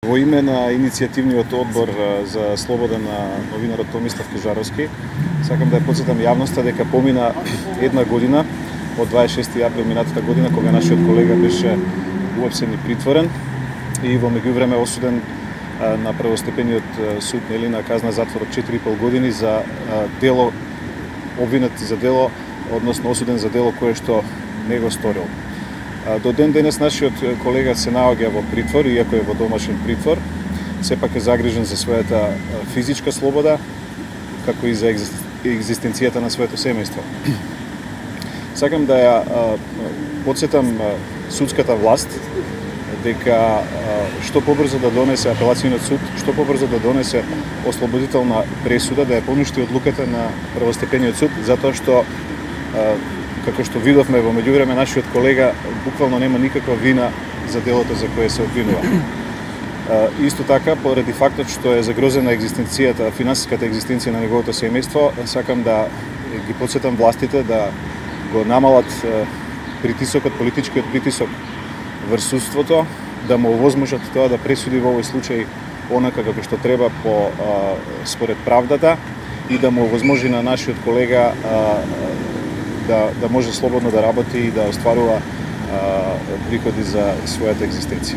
Во име на иницијативниот одбор за слобода на новинарот Томислав Кежаровски, сакам да ја потсетам јавноста дека помина една година од 26. април минатата година, кога нашиот колега беше уапсен и притворен и во меѓувреме осуден на првостепениот суд на казна затвор од 4,5 години за дело, обвинет за дело, односно осуден за дело кое што не го сторил. До ден денес нашиот колега се наоѓа во притвор, иако е во домашен притвор, сепак е загрижен за својата физичка слобода, како и за екзистенцијата на своето семејство. Сакам да ја потсетам судската власт дека што побрзо да донесе апелацијниот суд, што побрзо да донесе ослободителна пресуда, да ја поништи одлуката на првостепениот суд, затоа што како што видовме во меѓувреме, нашиот колега буквално нема никаква вина за делото за кое се обвинува. Исто така, поради фактот што е загрозена екзистенцијата, финансиската екзистенција на неговото семејство, сакам да ги потсетам властите да го намалат притисокот, политичкиот притисок врз судството, да му овозможат тоа да пресуди во овој случај онака како што треба според правдата и да му овозможи на нашиот колега да може слободно да работи и да остварува приходи за својата екзистенција.